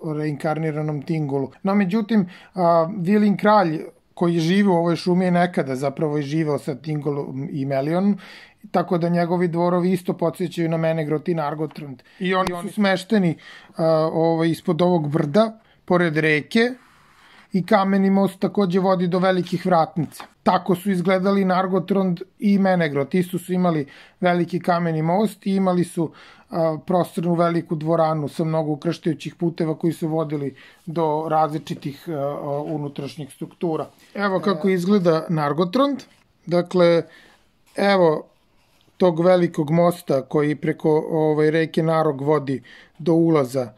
o reinkarniranom Tingolu. No međutim, a, Vilin kralj koji živi u ovoj šumi je nekada zapravo i živeo sa Tingolom i Melionom, tako da njegovi dvorovi isto podsjećaju na Menegrot i Nargothrond. I oni su smešteni uh, ovaj, ispod ovog brda, pored reke, i kameni most takođe vodi do velikih vratnica. Tako su izgledali Nargothrond i Menegrot. Isto su imali veliki kameni most i imali su uh, prostornu veliku dvoranu sa mnogo ukrštajućih puteva koji su vodili do različitih uh, unutrašnjih struktura. Evo kako izgleda Nargothrond. Dakle, evo tog velikog mosta koji preko ovaj, reke Narog vodi do ulaza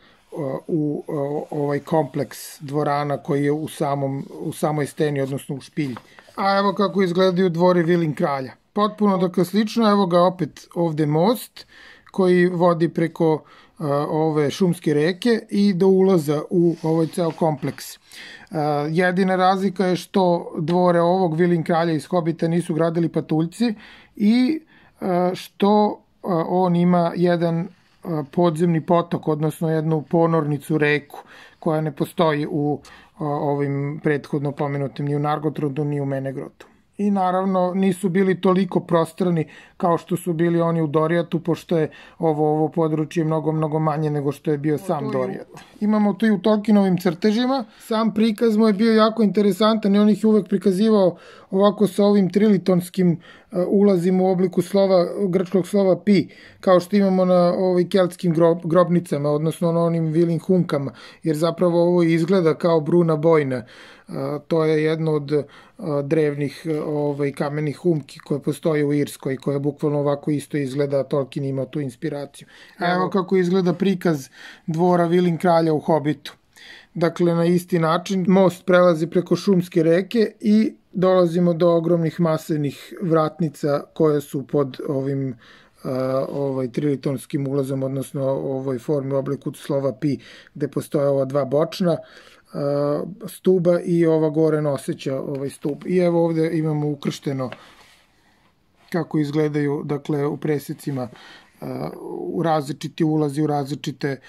u ovaj kompleks dvorana koji je u, samom, u samoj steni, odnosno u špilji. A evo kako izgledaju dvori Vilin kralja. Potpuno dakle slično, evo ga opet ovde most koji vodi preko uh, ove šumske reke i do ulaza u ovaj ceo kompleks. Uh, jedina razlika je što dvore ovog Vilin kralja iz Hobita nisu gradili patuljci i uh, što uh, on ima jedan podzemni potok, odnosno jednu ponornicu reku koja ne postoji u ovim prethodno pomenutim ni u Nargothrondu ni u Menegrotu. I naravno nisu bili toliko prostrani kao što su bili oni u Dorijatu, pošto je ovo, ovo područje mnogo, mnogo manje nego što je bio sam Dorijat. Imamo to i u Tolkienovim crtežima. Sam prikaz mu je bio jako interesantan i on ih uvek prikazivao ovako sa ovim trilitonskim ulazima u obliku slova, grčkog slova pi, kao što imamo na ovim keltskim grob, grobnicama, odnosno na onim Vilin hunkama, jer zapravo ovo izgleda kao bruna bojna. To je jedno od drevnih ovaj, kamenih humki koje postoje u Irskoj, koje bukvalno ovako isto izgleda, Tolkien ima tu inspiraciju. A evo kako izgleda prikaz dvora Vilin kralja u Hobitu. Dakle, na isti način most prelazi preko šumske reke i dolazimo do ogromnih masivnih vratnica koje su pod ovim uh, ovaj, trilitonskim ulazom, odnosno ovoj formi u obliku slova pi, gde postoje ova dva bočna uh, stuba i ova gore noseća ovaj stup. I evo ovde imamo ukršteno kako izgledaju, dakle, u presecima u različiti ulazi, u različite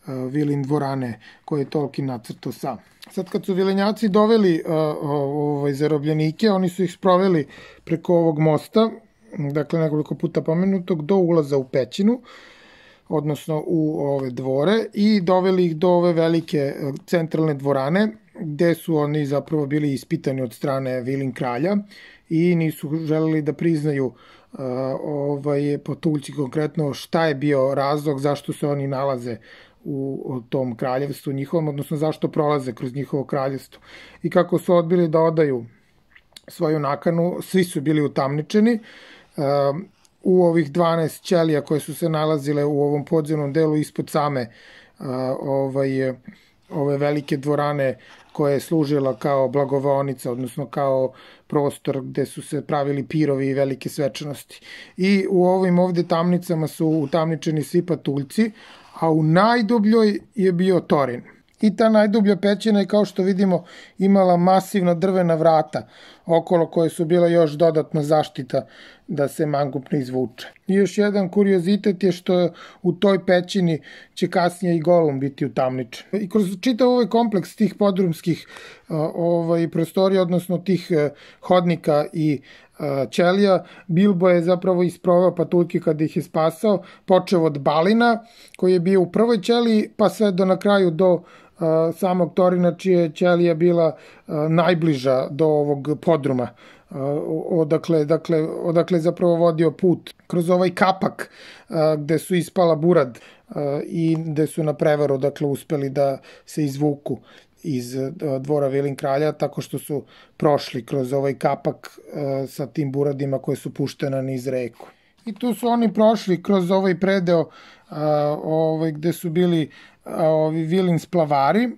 vilin dvorane koje je Tolkien nacrtao sam. Sad kad su vilenjaci doveli ovaj, zarobljenike, oni su ih sproveli preko ovog mosta, dakle nekoliko puta pomenutog, do ulaza u pećinu, odnosno u ove dvore, i doveli ih do ove velike centralne dvorane, gde su oni zapravo bili ispitani od strane vilin kralja i nisu želeli da priznaju uh, ovaj, potuljci konkretno šta je bio razlog zašto se oni nalaze u, u tom kraljevstvu njihovom, odnosno zašto prolaze kroz njihovo kraljevstvo. I kako su odbili da odaju svoju nakanu, svi su bili utamničeni. Uh, u ovih dvanaest ćelija koje su se nalazile u ovom podzemnom delu ispod same uh, ovaj, ove velike dvorane koja je služila kao blagovaonica, odnosno kao prostor gde su se pravili pirovi i velike svečanosti. I u ovim ovde tamnicama su utamničeni svi patuljci, a u najdubljoj je bio Thorin. I ta najdublja pećina je, kao što vidimo, imala masivna drvena vrata okolo koje su bila još dodatna zaštita da se mangup ne izvuče. I još jedan kuriozitet je što u toj pećini će kasnije i Golum biti utamničen. I kroz čitav ovaj kompleks tih podrumskih ovaj, prostorija, odnosno tih hodnika i ćelija, Bilbo je zapravo isprovao patuljke kada ih je spasao, počeo od Balina koji je bio u prvoj ćeliji, pa sve do na kraju do Uh, samog Thorina, čija je ćelija bila uh, najbliža do ovog podruma, uh, odakle, dakle, odakle zapravo vodio put kroz ovaj kapak uh, gde su ispala Burad uh, i gde su na prevaru dakle, uspeli da se izvuku iz uh, dvora vilin kralja, tako što su prošli kroz ovaj kapak uh, sa tim buradima koje su puštene niz reku. I tu su oni prošli kroz ovaj predeo uh, ovaj, gde su bili ovi vilin splavari,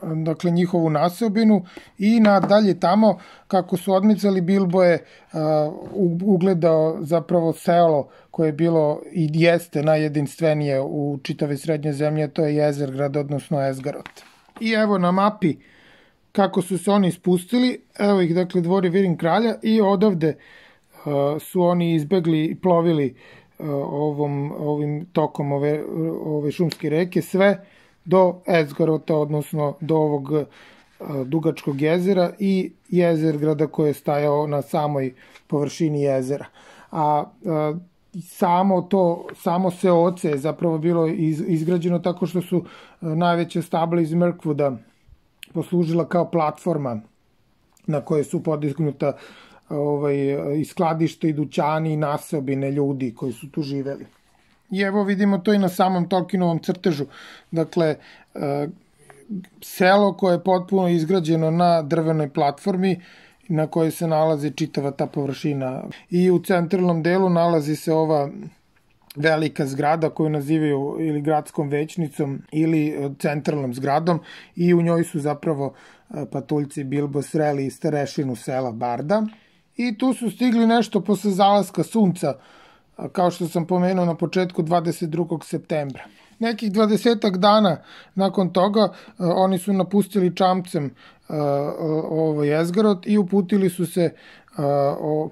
dakle njihovu naseobinu, i nadalje tamo kako su odmicali Bilbo je uh, ugledao zapravo selo koje je bilo i jeste najjedinstvenije u čitave srednje zemlje, to je Jezergrad, odnosno Esgaroth. I evo na mapi kako su se oni spustili, evo ih dakle dvori vilin kralja, i odavde uh, su oni izbegli i plovili ovom, ovim tokom ove, ove šumske reke sve do Esgarota, odnosno do ovog a, dugačkog jezera i Jezergrada koje je stajao na samoj površini jezera. A, a samo to, samo seoce je zapravo bilo iz, izgrađeno tako što su a, najveća stabla iz Mirkwooda poslužila kao platforma na kojoj su podignuta ovaj, i skladište i dućani i naseobine ljudi koji su tu živeli. I evo vidimo to i na samom Tolkienovom crtežu. Dakle, selo koje je potpuno izgrađeno na drvenoj platformi na kojoj se nalazi čitava ta površina. I u centralnom delu nalazi se ova velika zgrada koju nazivaju ili gradskom većnicom ili centralnom zgradom, i u njoj su zapravo patuljci Bilbo sreli starešinu sela Barda. I tu su stigli nešto posle zalaska sunca, kao što sam pomenuo na početku, dvadeset drugog septembra. Nekih dvadesetak dana nakon toga oni su napustili čamcem ovaj Esgaroth i uputili su se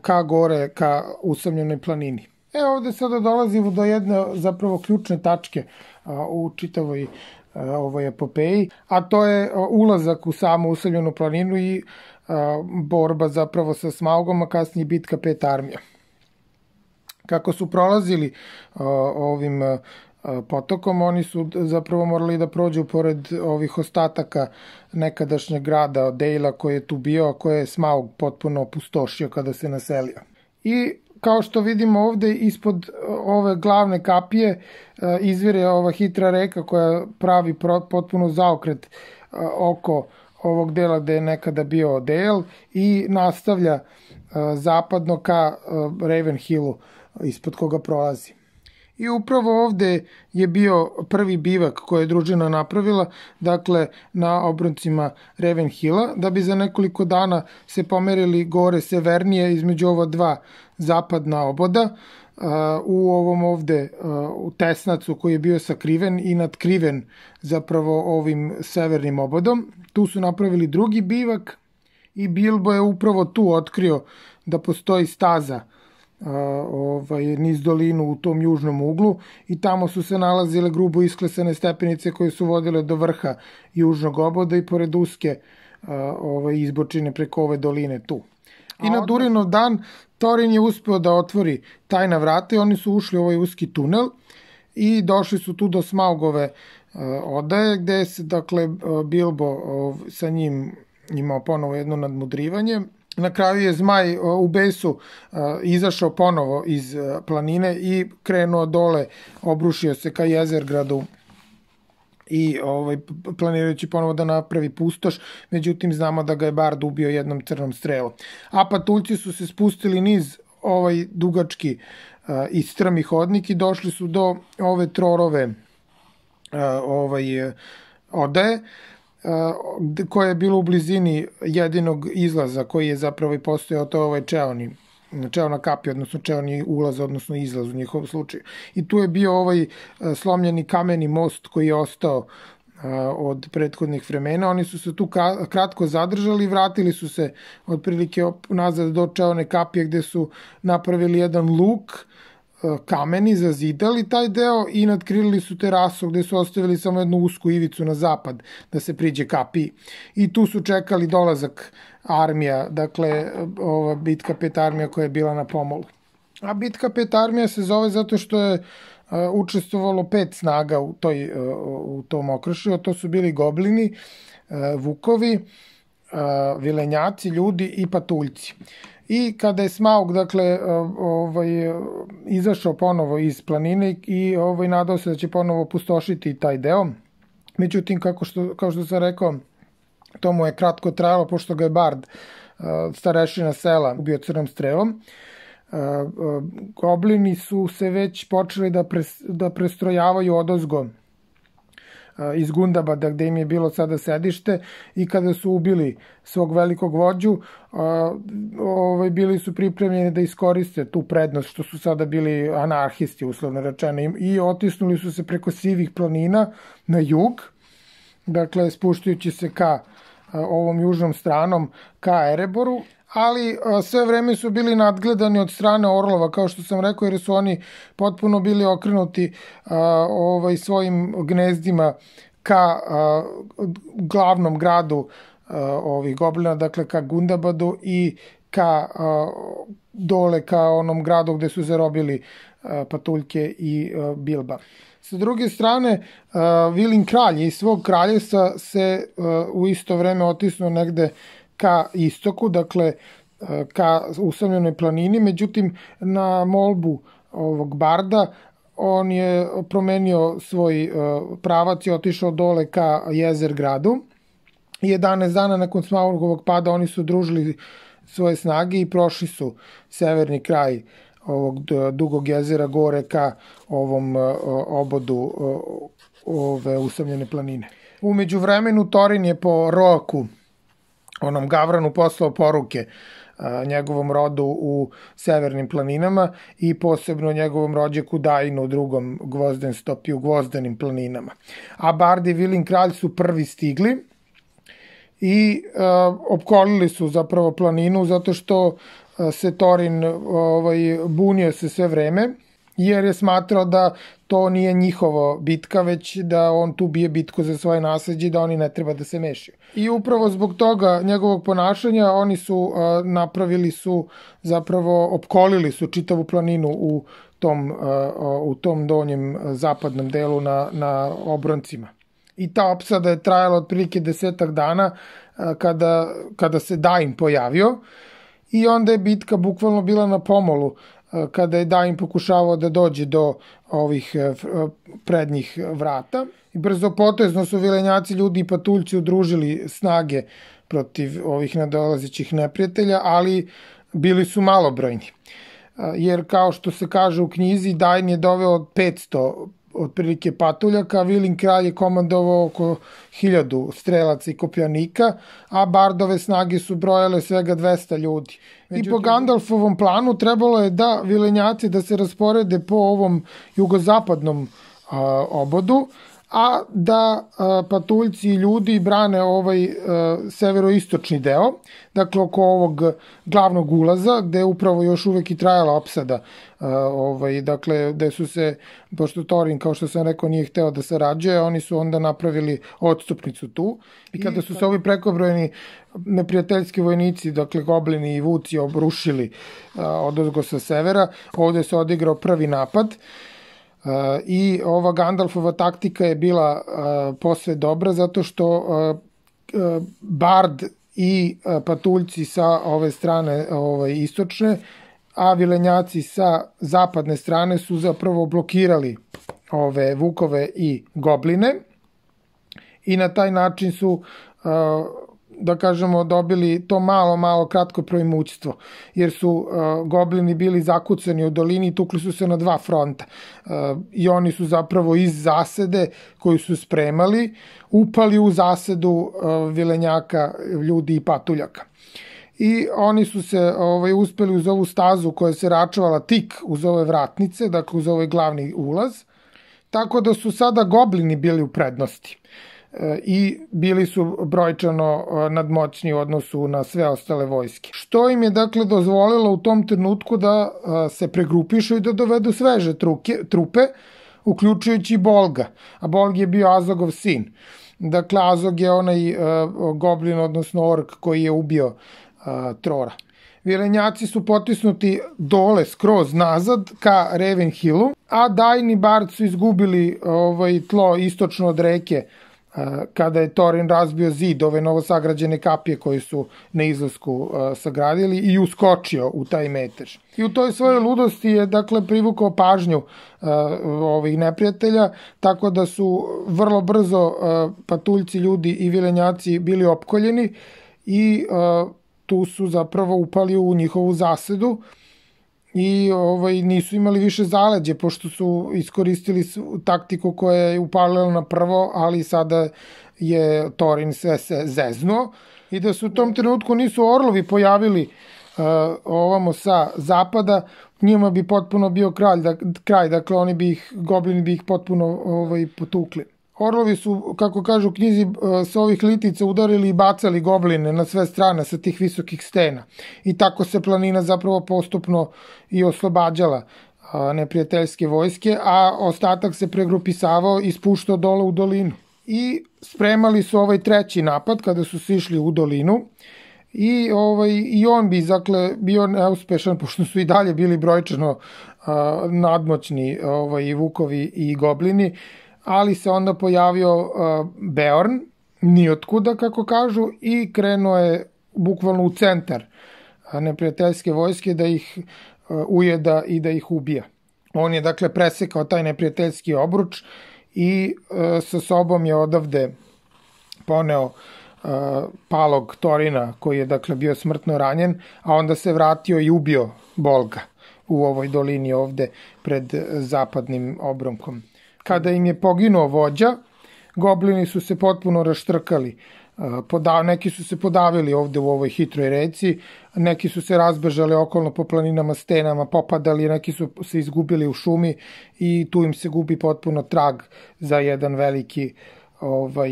ka gore, ka usamljenoj planini. E ovde sada dolazimo do jedne zapravo ključne tačke u čitavoj ovoj epopeji, a to je ulazak u samu usamljenu planinu i borba zapravo sa Smaugom, a kasnije bitka pet armija. Kako su prolazili ovim potokom, oni su zapravo morali da prođu pored ovih ostataka nekadašnjeg grada Dejla koji je tu bio, a koje je Smaug potpuno opustošio kada se naselio. I kao što vidimo ovde, ispod ove glavne kapije izvire ova hitra reka koja pravi potpuno zaokret oko ovog dela gde je nekada bio Dale i nastavlja zapadno ka Ravenhillu ispod koga prolazi. I upravo ovde je bio prvi bivak koje je družina napravila, dakle na obroncima Ravenhilla, da bi za nekoliko dana se pomerili gore severnije između ova dva zapadna oboda, u ovom ovde u tesnacu koji je bio sakriven i nadkriven zapravo ovim severnim obodom. Tu su napravili drugi bivak i Bilbo je upravo tu otkrio da postoji staza ovaj, niz dolinu u tom južnom uglu i tamo su se nalazile grubo isklesane stepenice koje su vodile do vrha južnog oboda i pored uske ovaj, izbočine preko ove doline tu. I na Durinov dan Thorin je uspeo da otvori tajna vrata i oni su ušli u ovaj uski tunel i došli su tu do Smaugove odaje, gde se, dakle, Bilbo sa njim imao ponovo jedno nadmudrivanje. Na kraju je zmaj u besu izašao ponovo iz planine i krenuo dole, obrušio se ka Jezergradu i ovaj, planirajući ponovo da napravi pustoš, međutim znamo da ga je Bard ubio jednom crnom strelom. A patuljci su se spustili niz ovaj dugački i strmi hodnik i došli su do ove Trorove ovaj, odaje, koja je bilo u blizini jedinog izlaza koji je zapravo i postojao, to je ovaj čeoni, čeona kapija, odnosno čeoni ulaz, odnosno izlaz u njihovom slučaju. I tu je bio ovaj slomljeni kameni most koji je ostao od prethodnih vremena. Oni su se tu kratko zadržali i vratili su se otprilike nazad do čeone kapije gde su napravili jedan luk kameni, zazidali taj deo i nadkrilili su terasu gde su ostavili samo jednu usku ivicu na zapad da se priđe kapiji. I tu su čekali dolazak armija, dakle ova bitka pet armija koja je bila na pomolu. A bitka pet armija se zove zato što je učestvovalo pet snaga u, toj, u tom okršaju, a to su bili goblini, vukovi, vilenjaci, ljudi i patuljci. I kada je Smaug, dakle, ovaj, izašao ponovo iz planine i ovaj, nadao se da će ponovo pustošiti taj deo, međutim, kako što, kao što sam rekao, to mu je kratko trajalo, pošto ga je Bard, starešina sela, ubio crnom strelom. Goblini su se već počeli da, pres, da prestrojavaju odozgo iz Gundabada, gde im je bilo sada sedište, i kada su ubili svog velikog vođu, ovaj, bili su pripremljeni da iskoriste tu prednost što su sada bili anarhisti, uslovno rečeno, i otisnuli su se preko sivih planina na jug, dakle spuštajući se ka ovom južnom stranom, ka Ereboru, ali sve vreme su bili nadgledani od strane orlova, kao što sam rekao, jer su oni potpuno bili okrenuti ovaj, svojim gnezdima ka glavnom gradu ovih goblina, dakle ka Gundabadu i ka dole ka onom gradu gde su zarobili patuljke i Bilba. Sa druge strane, Vilin kralj iz svog kraljevstva se u isto vreme otisnuo negde ka istoku, dakle ka usamljenoj planini, međutim na molbu ovog Barda on je promenio svoj pravac i otišao dole ka Jezergradu. jedanaest dana nakon Smaugovog pada oni su družili svoje snage i prošli su severni kraj ovog dugog jezera gore ka ovom obodu ove usamljene planine. Umeđu vremenu Thorin je po Roaku, onom Gavranu, poslao poruke a, njegovom rodu u severnim planinama i posebno njegovom rođaku Dainu u drugom Gvozdenstopi u Gvozdenim planinama. A Bard i Vilin kralj su prvi stigli i a, opkolili su zapravo planinu zato što a, se Thorin ovaj, bunio se sve vreme, jer je smatrao da to nije njihovo bitka, već da on tu bije bitku za svoje nasleđe i da oni ne treba da se mešaju. I upravo zbog toga njegovog ponašanja oni su a, napravili su, zapravo opkolili su čitavu planinu u tom, a, u tom donjem zapadnom delu na, na obroncima. I ta opsada je trajala otprilike desetak dana a, kada, kada se Dain pojavio i onda je bitka bukvalno bila na pomolu kada je Dain pokušavao da dođe do ovih prednjih vrata. I brzopotezno su vilenjaci, ljudi i patuljci udružili snage protiv ovih nadolazećih neprijatelja, ali bili su malobrojni. Jer kao što se kaže u knjizi, Dain je doveo petsto otprilike patuljaka, Vilin kralj je komandovao oko hiljadu strelaca i kopljanika, a Bardove snage su brojale svega dvesta ljudi. Međutim, i po Gandalfovom planu trebalo je da vilenjaci da se rasporede po ovom jugozapadnom a, obodu, a da patuljci i ljudi brane ovaj severoistočni deo, dakle oko ovog glavnog ulaza, gde je upravo još uvek i trajala opsada, ovaj, dakle, gde su se, pošto Thorin, kao što sam rekao, nije hteo da sarađuje, oni su onda napravili odstupnicu tu, i kada su se ovi prekobrojeni neprijateljski vojnici, dakle goblini i vuci, obrušili odozgo sa severa, ovde se odigrao prvi napad. Uh, i ova Gandalfova taktika je bila uh, posve dobra zato što uh, uh, Bard i uh, patuljci sa ove strane ovaj, istočne, a vilenjaci sa zapadne strane su zapravo blokirali ove vukove i gobline i na taj način su uh, da kažemo, dobili to malo, malo kratko proimućstvo, jer su uh, goblini bili zakucani u dolini i tukli su se na dva fronta. Uh, I oni su zapravo iz zasede koju su spremali, upali u zasedu uh, vilenjaka, ljudi i patuljaka. I oni su se ovaj, uspeli uz ovu stazu koja se račvala tik uz ove vratnice, dakle uz ovaj glavni ulaz, tako da su sada goblini bili u prednosti i bili su brojčano nadmoćni u odnosu na sve ostale vojske. Što im je dakle dozvolilo u tom trenutku da se pregrupišu i da dovedu sveže truke, trupe, uključujući Bolga. A Bolg je bio Azogov sin. Dakle, Azog je onaj uh, goblin, odnosno ork koji je ubio uh, Trora. Vilenjaci su potisnuti dole, skroz nazad, ka Ravenhillu, a Dain i Bard su izgubili ovaj, tlo istočno od reke kada je Thorin razbio zid, ove novosagrađene kapije koje su na izlasku uh, sagradili i uskočio u taj metež. I u toj svojoj ludosti je dakle privukao pažnju uh, ovih neprijatelja, tako da su vrlo brzo uh, patuljci, ljudi i vilenjaci bili opkoljeni i uh, tu su zapravo upali u njihovu zasedu i ovaj, nisu imali više zaleđe, pošto su iskoristili taktiku koja je upalila na prvo, ali sada je Thorin sve se zeznuo i da su u tom trenutku nisu orlovi pojavili uh, ovamo sa zapada, njima bi potpuno bio kralj, da, kraj, dakle oni bi ih, goblini bi ih potpuno ovaj, potukli. Orlovi su, kako kažu u knjizi, sa ovih litica udarili i bacali gobline na sve strane sa tih visokih stena. I tako se planina zapravo postupno i oslobađala neprijateljske vojske, a ostatak se pregrupisavao i spuštao dole u dolinu. I spremali su ovaj treći napad kada su sišli u dolinu i, ovaj, i on bi dakle, bio neuspešan, pošto su i dalje bili brojčano a, nadmoćni ovaj, vukovi i goblini, ali se onda pojavio uh, Beorn, nijotkuda, kako kažu, i krenuo je bukvalno u centar uh, neprijateljske vojske da ih uh, ujeda i da ih ubija. On je, dakle, presekao taj neprijateljski obruč i uh, sa sobom je odavde poneo uh, palog Thorina, koji je, dakle, bio smrtno ranjen, a onda se vratio i ubio Bolga u ovoj dolini ovde pred zapadnim obronkom. Kada im je poginuo vođa, goblini su se potpuno raštrkali. Podav, neki su se podavili ovde u ovoj hitroj reci, neki su se razbežali okolno po planinama, stenama, popadali, neki su se izgubili u šumi i tu im se gubi potpuno trag za jedan veliki, ovaj,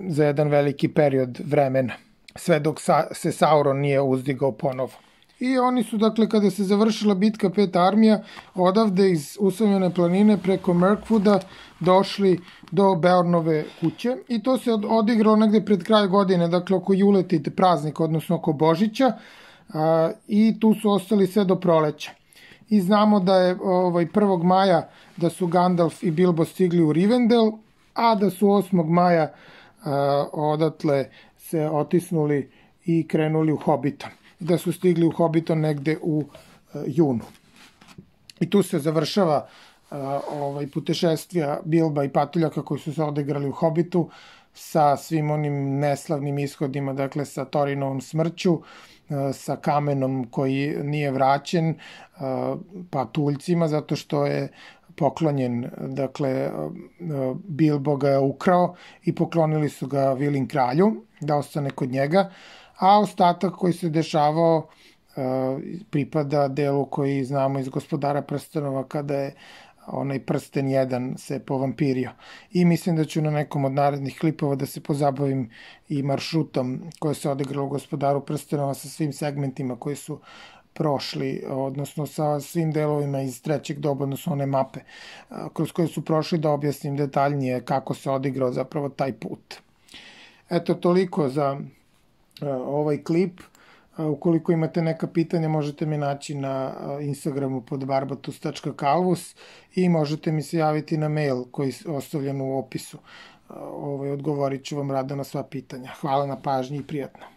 za jedan veliki period vremena. Sve dok sa, se Sauron nije uzdigao ponovo. I oni su, dakle, kada se završila bitka pet armija, odavde iz usamljene planine preko Mirkwooda došli do Beornove kuće i to se odigralo negde pred kraj godine, dakle oko Juletide praznika, odnosno oko Božića, a, i tu su ostali sve do proleća. I znamo da je ovaj, prvog maja da su Gandalf i Bilbo stigli u Rivendell, a da su osmog maja a, odatle se otisnuli i krenuli u Hobbiton. Da su stigli u Hobbiton negde u uh, junu. I tu se završava uh, ovaj, putešestvija Bilba i patuljaka koji su se odigrali u Hobbitu sa svim onim neslavnim ishodima, dakle sa Thorinovom smrću, uh, sa kamenom koji nije vraćen, uh, patuljcima zato što je poklonjen, dakle uh, Bilbo ga je ukrao i poklonili su ga Vilin kralju da ostane kod njega, a ostatak koji se dešavao uh, pripada delu koji znamo iz Gospodara prstenova kada je onaj prsten jedan se povampirio. I mislim da ću na nekom od narednih klipova da se pozabavim i maršrutom koje se odigralo u Gospodaru prstenova sa svim segmentima koji su prošli, odnosno sa svim delovima iz trećeg doba, odnosno one mape kroz koje su prošli, da objasnim detaljnije kako se odigrao zapravo taj put. Eto, toliko za ovaj klip. Ukoliko imate neka pitanja, možete me naći na Instagramu pod barbatus tačka calvus i možete mi se javiti na mail koji je ostavljen u opisu. Odgovorit ću vam rado na sva pitanja. Hvala na pažnji i prijatno.